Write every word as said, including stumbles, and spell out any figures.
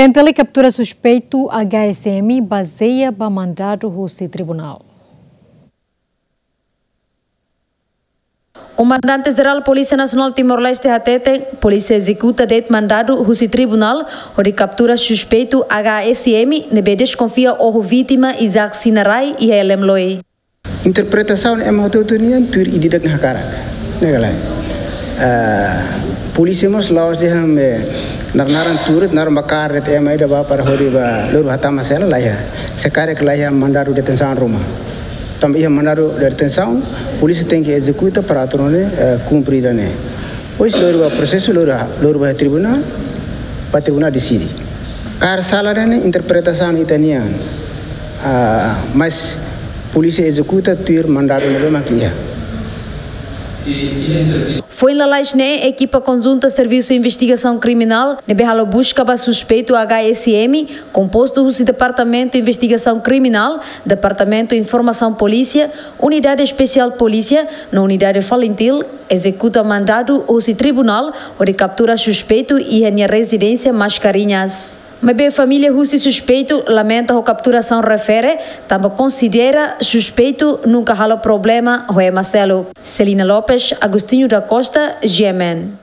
N T L kaptura suspeitu H S M bazeia ba mandadu husi tribunál. Komandante Jerál Polísia Nasionál Timor-Leste hateten, polísia ezekuta de'it mandadu husi tribunál hodi kaptura suspeitu H S M ne'ebé deskonfia oho vítima Isaac Sinarai iha Elemloi. Interpretasaun ema hotu-hotu nian tuir ida-idak nia hakarak. Ne'e ka lae. Ah, polísia mós la'ós dehan, eh, naran-naran tuur, naran bakar de'it ema ida ba para hodi ba lori ba hatama sela, laiha. Se karik laiha mandadu detensaun ruma. Tanba iha mandadu detensaun, polísia tenke ezekuta para atu nune'e, eh, kumpre ida-ne'e. Depois lori ba prosesu, lori, lori ba tribunál, ba tribunál deside. Karik sala ne'e interpretasaun ita-nian. Ah, mas polísia ezekuta tuir mandadu ne'ebé mak iha. Foin lalais ne'e, ekipa konjunta Servisu Investigasaun Kriminál ne'ebé halo buska ba suspeitu H S M, kompostu husi Departamentu Investigasaun Kriminál, Departamentu Informasaun Polísia, Unidade Espesiál Polísia no Unidade Falintil, ezekuta mandadu husi tribunál hodi kaptura suspeitu iha nia rezidénsia Mascarenhas. Maibé família husi suspeitu lamenta ho kapturasaun refere, tanba konsidera suspeitu nunka halo problema ho ema seluk. Celina Lopes, Agostinho da Costa, G M N.